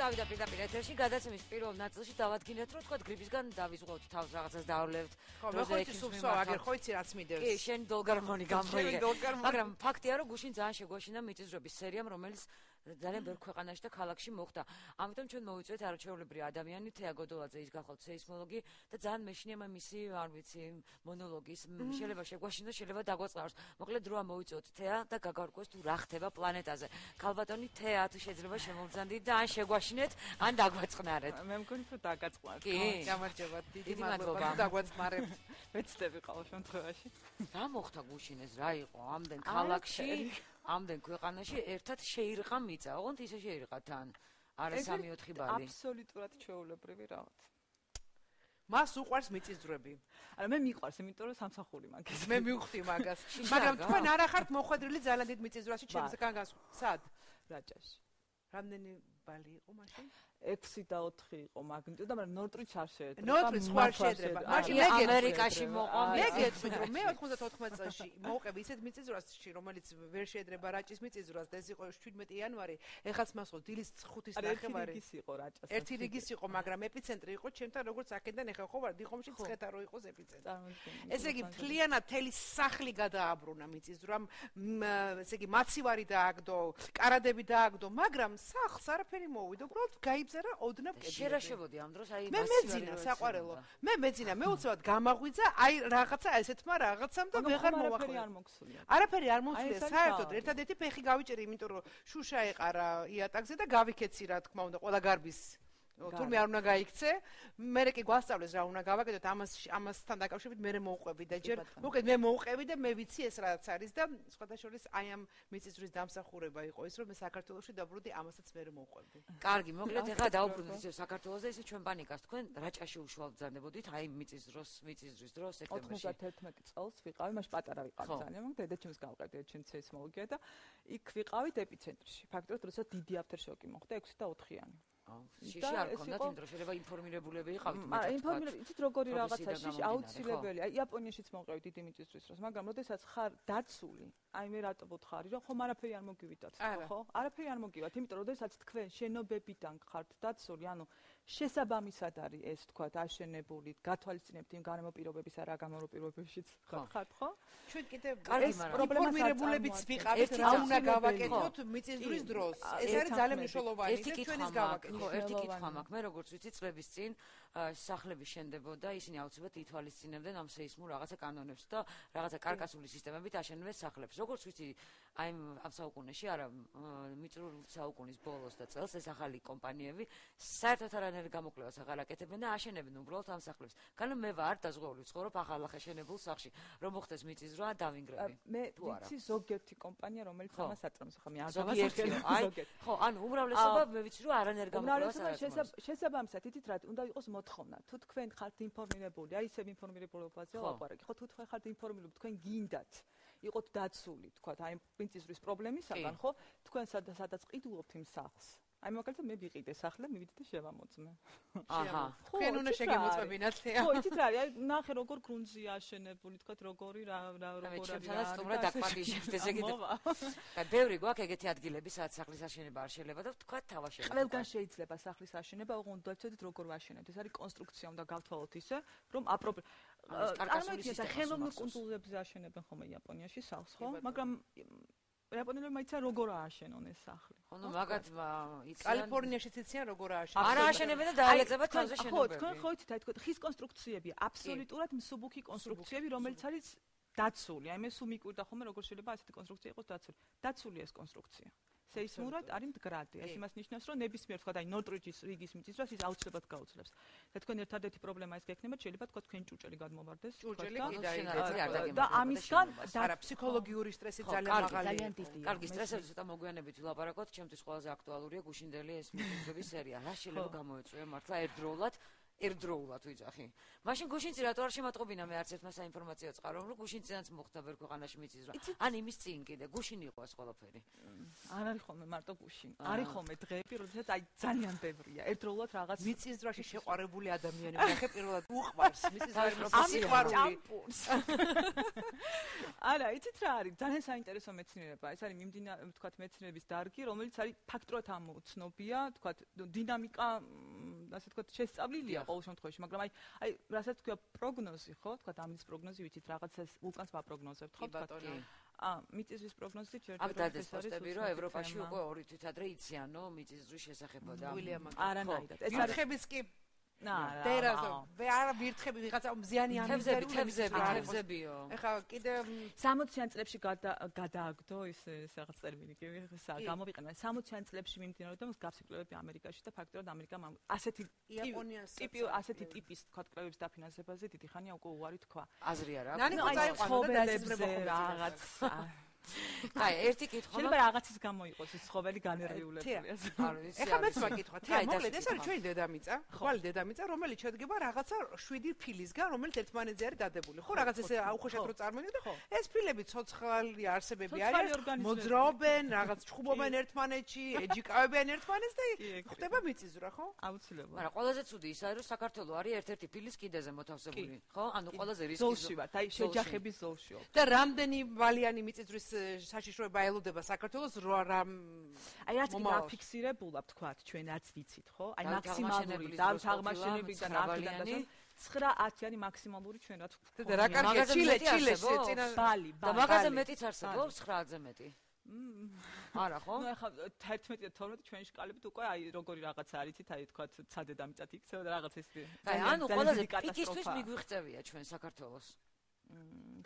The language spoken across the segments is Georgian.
წავიდა პირდაპირ ეთერში, გადაცემის პირველ ნაწილში დავადგინეთ, რომ თქვა გრიპისგან დავიზღვოთ თავს, რაღაცას დავავლევთ. ხო, მე ხო იცი სულსო, აგერ ხო იცი რაც მიდევს. კი, შენ დოლგარმონი გამოიგე. მაგრამ ფაქტია, რომ გუშინ ძალიან შეგვაშინა მიწისძვრების სერიამ, რომელიც ძალიან ბევრ ქვეყანაში და ქალაქში მოხდა. ამიტომ ჩვენ მოვიწვევთ არაჩვეულებრივი ადამიანი თეა გოდოლაძე, ის გახლავთ სეისმოლოგი და ძალიან მეშინია მისი, არ ვიცი, მონოლოგის შეიძლება შეგვაშინოს, შეიძლება დაგვაწყაროს. მოკლედ დროა მოვიწვევთ თეა და გაგარკვევს თუ რა ხდება პლანეტაზე. ქალბატონი თეა თუ შეიძლება შემოვძანდით და ან შეგვაშინეთ, ან დაგვაწყნარეთ. მე მგონი რომ დაგაწყნართ. კი, გამარჯობა. დიდი მადლობა დაგვაწყნარებთ. ვეცდები ყოველ შემთხვევაში. რა მოხდა გუშინ ეს რა იყო ამდენ ქალაქში, ამდენ ქვეყანაში ერთად შეირყა მიწა. ოღონდ ისე შეირყა თან. არა 3-4 ბალი. აბსოლუტურად ჩვეულებრივი რაღაც. მას უყვარს მიწისძვრები. არა მე მიყვარს, იმიტომ რომ სამსახური მაგას. მე მივხვდი მაგას. მაგრამ თქვენ არა ხართ მოხვედრილი ძალიან დიდ მიწისძვრაში ჩემსგან სად? რაჭაში. რამდენი ბალი იყო მაშინ? 6 და 4 იყო მაგნიტუდა, მაგრამ ნორტრიც არ შეეძრება. ნორტრიც ხარ შეეძრება. მაშინ მე ამერიკაში მოყვა. მე გეტყვი რომ მე 94 წელს მოვყევი ისეთ მიწისძვრაში, რომელიც ვერ შეეძრება რაჭის მიწისძვრას და ეს იყო 17 იანვარი. ეხაც მას ხო დილის 5-ის ნახევარი. ერთი რიგის იყო რაჭას. ერთი რიგის იყო, მაგრამ ეპიცენტრი იყო ჩემთან როგორც აქედან ეხა ხო ვარ დიხომში ცხეთა რო იყოს ეპიცენტრი. ესე იგი მთლიანად თელი სახლი გადააბრუნა მიწისძვრამ, ესე იგი მაცივარი დააგდო, კარადები დააგდო, მაგრამ სახლს არაფერი მოვიდა, უბრალოდ გაიბზარა ოდნავ კედლები. შერაშებოდი ამ დროს აი მე მეძინა საყვარელო. მე მეძინა, მე უცბად გამაღვიძა, აი რაღაცა ესეთმა რაღაცამ და ვეღარ მოვახმარე. არაფერი არ მომხსნია საერთოდ. ერთადერთი ფეხი გავიჭერი, იმიტომ რომ შუშა ეყარა იატაკზე და გავიქეცი რა თქმა უნდა, ყველა გარბის თურმე არ უნდა გაიქცე. მე კი გვასწავლეს რა უნდა გავაკეთოთ ამასთან დაკავშირებით მე მოვყვები და ჯერ მოკლედ მე მოვყვები და მე ვიცი ეს რაც არის და სხვადასხვა აი ამ მიწისძვრის დამსახურება იყო ის რომ მე საქართველოში დაბრუნდი ამასაც მე მოვყვები. კარგი, მოკლედ ეხლა დაუბრუნდით ისე საქართველოზე, ისე ჩვენ პანიკას თქვენ რაჭაში უშუალოდ ბრძანდებოდით აი მიწისძვრის დროს სექტემბერში. 91 წელს ვიყავი, მაშ პატარა ვიყავი ძალიან, მაგრამ დედაჩემს გავყავდი დედაჩემს სეისმოლოგია და იქ ვიყავით ეპიცენტრში. ფაქტობრივად როდესაც დიდი აფტერშოკი მოხდა 6 და 4-იანი. შიში არ ქონდათ იმ დროს შეიძლება ინფორმირებულები იყავით მეტად. ინფორმირებული, იცით როგორი რაღაცა შიში აუცილებელია. აი იაპონიაშიც მოყევით დიდი მიწისძვრის დროს, მაგრამ როდესაც ხარ დაცული, აი მე რატო ვთხარი, რომ ხომ არაფერი არ მოგივიდათ, ხო? არაფერი არ მოგივათ, იმიტომ რომ როდესაც თქვენ შენობებიდან ხართ დაცული, ანუ შესაბამისად არის ეს თქვა აშენებული, გათვალისწინებთ იმ გარემო პირობებისა რა გამარო პირობებშიც ხართ, ხო? ჩვენ კიდე ეს ინფორმირებულებიც ვიყავით, რა უნდა გავაკეთოთ მიწისძვრის დროს. ეს არის ძალიან მნიშვნელოვანი და ჩვენ ეს გავაკეთოთ. ხო, ერთი კითხვა მაქვს. მე როგორც ვიცი, წლების წინ სახლები შენდებოდა, ისინი აუცილებლად ითვალისწინებდნენ ამ სეისმურ რაღაცა კანონებს და რაღაცა კარკასული სისტემებით აშენებდნენ სახლებს. როგორც ვიცი, აი ამ საუკუნეში, არა, მიწრულ საუკუნის ბოლოს და წელს ეს ახალი კომპანიები საერთოდ არანაირ გამოკვლევას აღარ აკეთებენ და აშენებენ უბრალოდ ამ სახლებს. განო მე ვარ დაზღვეული ვცხოვრობ ახალ შენებულ სახლში. რომ მოხდეს მიწისძვრა, დავინგრები. მე ვიცი ზოგიერთი კომპანია, რომელიც ამას აწარმოებს, ხო, მე არ დავასახელო. აი, ხო, ანუ უმრავლესობა მე ვიცი რომ არანაირ შესაბამისად ითით რა უნდა იყოს მოთხოვნა თუ თქვენ ხართ ინფორმირებული აი ისევ ინფორმირებულობაზე ვაპარაკი ხო თუ თქვენ ხართ ინფორმირებული თქვენ გინდათ იყოთ დაცული თქვა აი მიწისძვრის პრობლემისაგან ხო თქვენ სადაც ყიდულობთ იმ სახლს აი მაგალითად მე ვიყიდე სახლი მივიდე და შევამოწმე აჰა თქვენ უნდა შეგემოწმებინათ თეა ხო იცით რა აი ნახე როგორ გრუნტზია აშენებული თქვა როგორი რა როგორ არის ჩემთანაც სტუმრად დაკვადიშებთ ესე იგი აი ბევრი გვაქვს ეგეთი ადგილები სადაც სახლის აშენება არ შეიძლება და თქვა თავაშენება ყველგან შეიძლება სახლის აშენება ოღონდ დავცოდით როგორ ვაშენებთ ეს არის კონსტრუქცია უნდა გავთვალოთ ისე რომ წარმოიდგინეთ ხელოვნურ კუნძულებზე აშენებენ ხოლმე იაპონიაში სახლს ხო მაგრამ იაპონელები მაიცა როგორ ააშენონ ეს სახლი. ხო, ნუ მაგათ იციან. კალიფორნიაშიც იციან როგორ ააშენონ. არა ააშენებენ და დაალეწებათ თავზე შენობები. ხო, თქვენ ხო იცით, აი თქვენ ხის კონსტრუქციებია, აბსოლუტურად მსუბუქი კონსტრუქციები, რომელიც არის დაცული. აი მე სულ მიკვირდა ხოლმე როგორ შეიძლება ასეთი კონსტრუქცია იყოს დაცული. დაცული ეს კონსტრუქცია. სეისმურად არის მდგრადი. ეს იმას ნიშნავს, რომ ნებისმიერ თქვა აი ნორტრიჯის რიგის მიწისძვრას ის აუცილებლად გაუძლებს. და თქვენ ერთადერთი პრობლემა ის გექნება, შეიძლება თქვა თქვენ ჭუჭელი გადმოვარდეს. ჭუჭელი და ამისგან არა ფსიქოლოგიური სტრესი ძალიან მაღალია. კარგი სტრესებზე ცოტა მოგვიანებით ვილაპარაკოთ, ჩემთვის ყველაზე აქტუალურია გუშინდელი ეს მიწისძვრების სერია. რა შეიძლება გამოეწვია მართლა ერთდროულად ერთდროულად ვიძახი. მაშინ გუშინცი რატო არ შემატყობინა მე არც ერთმა საინფორმაციო წყარო, რომ გუშინციანაც მოხდა ვერ ქვეყანაში მიწის რა. ან იმის წინ კიდე გუშინ იყო ეს ყველაფერი. არ არის ხოლმე მარტო გუშინ. არის ხოლმე დღეები, როდესაც აი ძალიან ბევრია. ერთდროულად რაღაც მიწის ძრაში შეყვარებული ადამიანი ნახე პირველად უყვარს მიწის ძრაში სიყვარული. არა, იცით რა არის? ძალიან საინტერესო მეცნიერება. ეს არის ვთქვათ მეცნიერების დარგი, რომელიც არის ფაქტორად ამოცნობია, ვთქვათ დინამიკა, ასე ვთქვათ შესწავლილია ყოველ შემთხვევაში, მაგრამ აი რასაც თქვა პროგნოზი, ხო? ვთქვათ ამის პროგნოზი ვიცით რაღაცას ვულკანს ვაპროგნოზებთ, ხო? ვთქვათ მიწისძვრის პროგნოზი ჯერჯერობით ეს პოსტები რომ ევროპაში უკვე 2 თვით ადრე იციანო მიწისძვრის შესახებოდა. არანაირად. ეს არხების კი დერაზო ვეარა ვირთხები ვიღაცა მზიანი თევზებიო. ეხლა კიდე 60-იან წლებში გადააგდო ის რაღაც ტერმინი კი გამოვიყენა 60-იან წლებში მიმდინარეობდა მსგავსი კვლევები ამერიკაში და ფაქტორად ამერიკამ ასეთი ასეთი ტიპის თქვა კვლევების დაფინანსებაზე დიდი ხანია უკვე უარი თქვა. აზრი არა. ნანი ცხოველებზე რაღაც აი, ერთი კითხვა. შეიძლება რაღაცის გამო იყოს ის ცხოველი განერვიულებულია. ეხლა მეც მაგითხვა, თეა, მოკლედ ეს არის ჩვენი დედამიწა, ხვალ დედამიწა, რომელიც შედგება რაღაცა 7 ფილისგან, რომელიც ერთმანეთზე არის დადებული. ხო, რაღაც ეს აუხოშად რო წარმოვიდგინოთ და ეს ფილები ცოცხალი არსებები არიან, მოძრაობენ, რაღაც ჩხუბობენ ერთმანეთში, ეჯიკავებიან ერთმანეთს და ხდება მიწისძვრა, ხო? აუცილებლად. მაგრამ ყველაზე ცუდი ის არის, რომ საქართველოს არის ერთ-ერთი ფილის კიდეზე მოთავსებული, ხო? ანუ ყველაზე რისკი ზოლში ვართ, აი შეჯახების ზოლშიო. და რამდენი ვალიანი მიწისძვრის საშიშროება ელოდება საქართველოს რამ აი რაც დაფიქსირებულა ვთქვათ ჩვენაც ვიცით ხო აი მაქსიმალური აღმაშენებიდან აქედან 9-10-იანი მაქსიმალური ჩვენ რაც და რა კარგია ჩილეში წინა ბალი და მაგაზე მეტიც არსებობს 9-ზე მეტი არა ხო ნუ ახლა 11 და 12 ჩვენი შკალებით უკვე აი როგორი რაღაცა არიცით აი ვთქვათ ცადე და მიწათ იქცევა და რაღაც ეს აი ანუ ყველაზე პიკისთვის მიგვიღწევია ჩვენ საქართველოს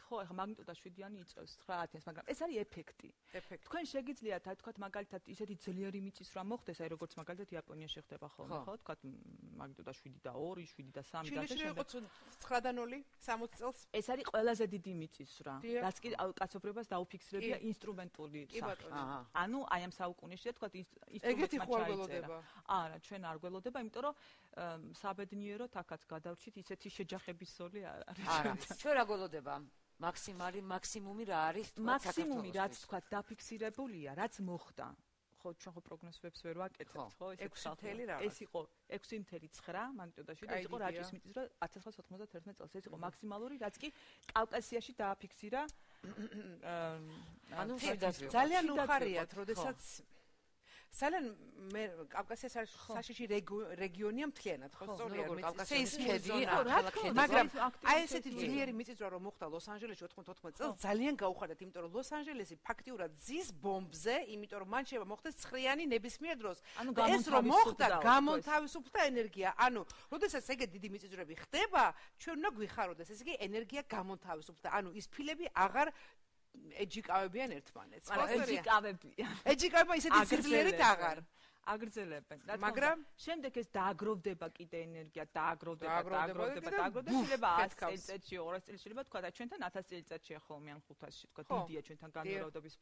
ხო, ახლა მაგნიტუდა 7-იანი იწევს 9-1000-ს, მაგრამ ეს არის ეფექტი. თქვენ შეგიძლიათ, აი თქვათ მაგალითად ისეთი ძლიერი მიწისძვრა მოხდეს, აი როგორც მაგალითად იაპონიაში ხდება ხოლმე, ხო? თქვათ მაგნიტუდა 7 და 2, 7 და 3 და შემდეგ. იყო 9 და 0, 60 წელს. ეს არის ყველაზე დიდი მიწისძვრა. რაც კი კაცობრიობას დაუფიქსირებია ინსტრუმენტული სახით. ანუ აი ამ საუკუნეში თქვათ ინსტრუმენტმა ჩაიწერა. არა, ჩვენ არ გველოდება, იმიტომ რომ საბედნიეროდ აქაც გადავრჩით ისეთი შეჯახების ზოლი არ არის. არა, ჩვენ რა გველოდება? მაქსიმუმი რა არის თქვა მაქსიმუმი რაც თქვა დაფიქსირებულია რაც მოხდა ხო ჩვენ ხო პროგნოზებს ვერ ვაკეთებთ ხო ეს იყო 6.9 მაგნიტუდაში და ეს იყო რაჭის მიწისძვრა 1991 წელს ეს იყო მაქსიმალური რაც კი კავკასიაში დააფიქსირა ანუ ძალიან უხარიათ როდესაც ძალიან მე კავკასიის საშიში რეგიონია მთლიანად ხო სწორია მაგრამ აი ესეთი ძლიერი მიწისძვრა რომ მოხდა ლოს-ანჯელესში 94 წელს ძალიან გაუხარდათ იმიტომ რომ ლოს-ანჯელესი ფაქტიურად ზის ბომბზე იმიტომ რომ მან შეიძლება მოხდეს ცხრიანი ნებისმიერ დროს ეს რომ მოხდა გამონთავისუფლდა ენერგია ანუ როდესაც ეგეთი დიდი მიწისძვრები ხდება ჩვენ უნდა გვიხაროდეს ესე იგი ენერგია გამონთავისუფლდა ანუ ის ფილები აღარ ეჯიკავებიან ერთმანეთს. ეჯიკავება ისეთი სიძლიერით აღარ. აგრძელებენ. მაგრამ შემდეგ ეს დააგროვდება კიდე ენერგია, დააგროვდება. შეიძლება 100 წელიწადში, 200 წელიწადში შეიძლება თქვა და ჩვენთან 1000 წელიწადშია ხოლმე ან 500-ში თქვა დიდია ჩვენთან განმავლობის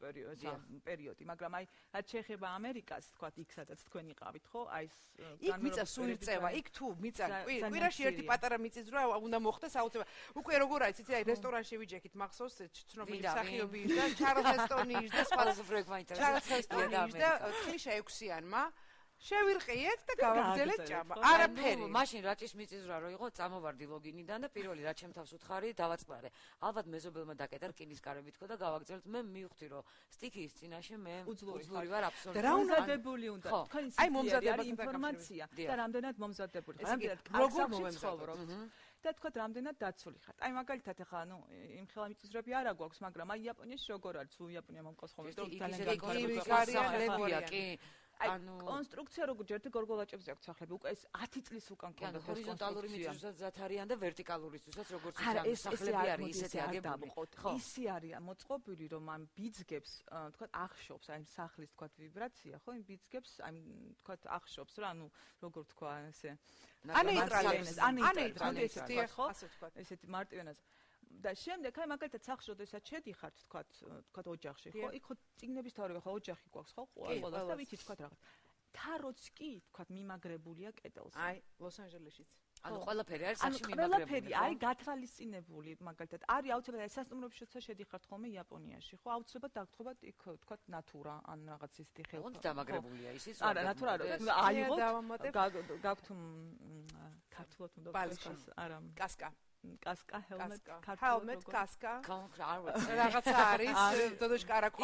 პერიოდი, მაგრამ აი რაც შეეხება ამერიკას თქვა იქ სადაც თქვენ იყავით, ხო? აი ეს იქ მიწა სულ იწევა, იქ თუ მიწა კვირაში ერთი პატარა მიწისძვრა უნდა მოხდეს აუცილებლად. უკვე როგორ არის, იცი აი რესტორანში ვიჯექით მახსოვს ცნობილი მსახიობი და ჩარლზ ჰესტონის და სხვა ჩარლზ ჰესტონის და კლიშა 6-იანმა შევირყიეთ და გავაგზავნეთ ჭამა. არაფერი. მაშინ რაჭის მიწისძვრა რო იყო, წამოვარდი ლოგინიდან და პირველი რაც ჩემთავს უთხარი, დავაწყარე. ალბათ მეზობელმა დაკეტა რკინის კარები თქო და გავაგზავნეთ. მე მივხვდი რომ სტიქიის წინაშე მე უძლური ვარ აბსოლუტურად. და მომზადებული უნდა. თქვენ აი მომზადებული ინფორმაცია და რამდენად მომზადებული. რამდენად როგორ მომზადებული. და თქვა რამდენად დაცული ხართ. აი მაგალითად ახლა ანუ იმ ხელა მიწისძვრები არა გვაქვს, მაგრამ აი იაპონიაში როგორ არის? თუ იაპონია მომყავს ხოლმე და ძალიან განსახლებია კი. ანუ კონსტრუქცია როგორ ჯერტი გორგოლაჭებზე აქვს სახლები უკვე ეს 10 წლის უკან ქონდა ჰორიზონტალური მიწისძვრაც არიან და ვერტიკალურისთვისაც როგორც იციან სახლები არის ისეთი აგებული ხო ისი არის მოწყობილი რომ ამ ბიძგებს თქვა ახშობს აი სახლის თქვა ვიბრაცია ხო იმ ბიძგებს აი თქვა ახშობს რა ანუ როგორ თქვა ესე ანეიტრალიზმი ესეთი ხო ესეთი მარტივენას და შემდეგ აი მაგალითად სახლში როდესაც შედიხართ თქვა ოჯახში ხო იქ ხო წიგნების თავრება ხო ოჯახი გვაქვს ხო ყველას და ვიცი თქვა რაღაც თაროც კი თქვა მიმაგრებულია კედელზე აი ლოს-ანჯელესშიც ანუ ყველაფერი არის სახში მიმაგრებული. ყველაფერი აი გათვალისწინებული, მაგალითად, არის აუცილებლად სასტუმროებში როცა შედიხართ ხოლმე იაპონიაში, ხო, აუცილებლად დაგთხოვათ იქ თქვა ნატურა ან რაღაც ისეთი ხელფასი. ოღონდ დამაგრებულია ისიც. არა, ნატურა აიღოთ, გაქვთ ქართულად უნდა ვთქვას, არა, კასკა, ჰელმეტ, ქართულად კასკა. არ ვიცი. რაღაცა არის, დოდოშკარა ყავს.